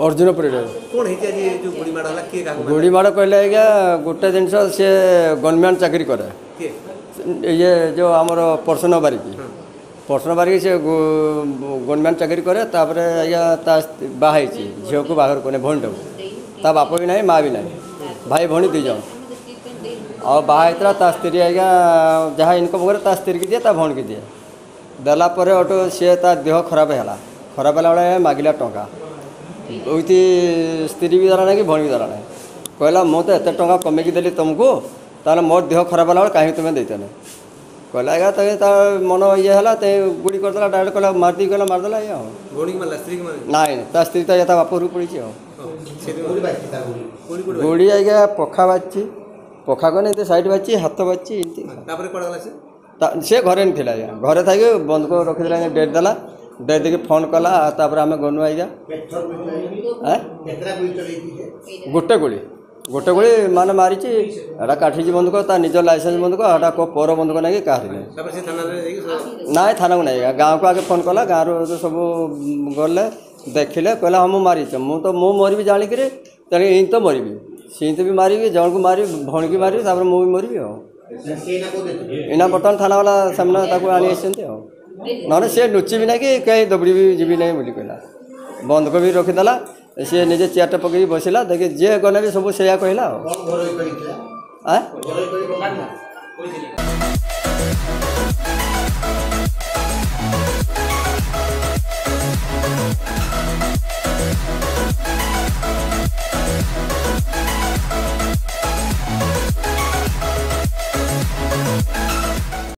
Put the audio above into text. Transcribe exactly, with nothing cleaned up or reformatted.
ଅର୍ଜୁନ ପରିଡ଼ା। କ'ଣ ହେଇଛି ଆଜି? ଏ ଯୋଉ ଗୁଳି ମାଡ଼ ହେଲା, କିଏ କାହାକୁ ମାରିଲା? ଗୁଳି ମାଡ଼ କହିଲେ ଆଜ୍ଞା, ଗୋଟେ ଜିନିଷ, ସିଏ ଗଭର୍ଣ୍ଣମେଣ୍ଟ ଚାକିରି କରେ। କିଏ? ଇଏ ଯେଉଁ ଆମର ପ୍ରସନ୍ନ ବାରିକି, ପ୍ରସନ୍ନ ବାରିକି, ସେ ଗଭର୍ଣ୍ଣମେଣ୍ଟ ଚାକିରି କରେ। ତାପରେ ଆଜ୍ଞା ତା ବାହା ହେଇଛି, ଝିଅକୁ ବାହାଘର କରେ, ଭଉଣୀଟାକୁ। ତା ବାପ ବି ନାହିଁ, ମା ବି ନାହିଁ, ଭାଇ ଭଉଣୀ ଦୁଇ ଜଣ। ଆଉ ବାହା ହେଇଥିଲା। ତା ସ୍ତ୍ରୀ ଆଜ୍ଞା ଯାହା ଇନକମ୍ କରେ, ତା ସ୍ତ୍ରୀକି ଦିଏ, ତା ଭଉଣୀକି ଦିଏ। ଦେଲା ପରେ ଅଟୋ ସିଏ ତା ଦେହ ଖରାପ ହେଲା। ଖରାପ ହେଲା ବେଳେ ମାଗିଲା ଟଙ୍କା। ଉଇଥି ସ୍ତ୍ରୀ ବି ଦେଲା ନାହିଁ କି ଭଉଣୀ ବି ଦେଲା ନାହିଁ। କହିଲା, ମୁଁ ତ ଏତେ ଟଙ୍କା କମେଇକି ଦେଲି ତୁମକୁ, ତାହେଲେ ମୋର ଦେହ ଖରାପ ହେଲା ବେଳେ କାହିଁକି ତୁମେ ଦେଇତେନି? କହିଲା ଆଜ୍ଞା, ତ ତା ମନ ଇଏ ହେଲା, ତେ ଗୁଳି କରିଦେଲା ଡାଇରେକ୍ଟ। କହିଲା ମାରିଦେଇ, କହିଲା ମାରିଦେଲା ଆଜ୍ଞା। ଆଉ ଭଉଣୀକି ମାରିଲା, ସ୍ତ୍ରୀକି ମାରିଲା? ନାଇଁ, ତା ସ୍ତ୍ରୀ ତ ତା ବାପ ଘରକୁ ପଳେଇଛି। ଆଉ ଗୁଳି କୋଉଠି? ଗୁଳି ଆଜ୍ଞା ପଖା ବାଜିଛି, ପଖା କନେ ଏମିତି ସାଇଡ଼୍ ବାଜିଛି, ହାତ ବାଜିଛି ଏମିତି। ତାପରେ କୁଆଡ଼େ ଗଲା ସେ? ସେ ଘରେ ଥିଲା ଆଜ୍ଞା। ଘରେ ଥାଇକି ବନ୍ଧୁକ ରଖିଦେଲା ଆଜ୍ଞା, ଡେଟ୍ ଦେଲା। ଡେଟ୍ ଦେଇକି ଫୋନ୍ କଲା, ତାପରେ ଆମେ ଗନୁ ଆଜ୍ଞା। ଗୋଟେ ଗୁଳି, ଗୋଟେ ଗୁଳି ମାନେ ମାରିଛି। ଏଟା କାଠିଛି ବନ୍ଧୁକ, ତା ନିଜ ଲାଇସେନ୍ସ ବନ୍ଧୁକ। ଏଟା କେଉଁ ପର ବନ୍ଧୁକ ନାଇଁ କି କାହାରି ନାହିଁ। ତାପରେ ସେ ଥାନାରେ ଯାଇକି? ନାଇଁ, ଥାନାକୁ ନାଇଁ, ଗାଁକୁ ଆଗେ ଫୋନ୍ କଲା। ଗାଁରୁ ସବୁ ଗଲେ, ଦେଖିଲେ। କହିଲା, ହଁ ମୁଁ ମାରିଛି, ମୁଁ ତ ମୁଁ ମରିବି ଜାଣିକିରି, ତେଣୁ ଏମିତି ତ ମରିବି, ସେମିତି ବି ମାରିବି, ଜଣକୁ ମାରିବି, ଭଉଣୀକି ମାରିବି, ତାପରେ ମୁଁ ବି ମରିବି। ଆଉ ଏଇନା ବର୍ତ୍ତମାନ ଥାନାବାଲା ସେମାନେ ତାକୁ ଆଣି ଆସିଛନ୍ତି। ଆଉ ନହେଲେ ସିଏ ଲୁଚିବି ନାହିଁ କି କେହି ଦୌଡ଼ିବି ଯିବି ନାହିଁ ବୋଲି କହିଲା। ବନ୍ଧୁକ ବି ରଖିଦେଲା। ସିଏ ନିଜେ ଚେୟାରଟା ପକେଇକି ବସିଲା। ଦେଖି ଯିଏ ଗଲେ ବି ସବୁ ସେଇଆ କହିଲା। ଆଉ ଆଁ।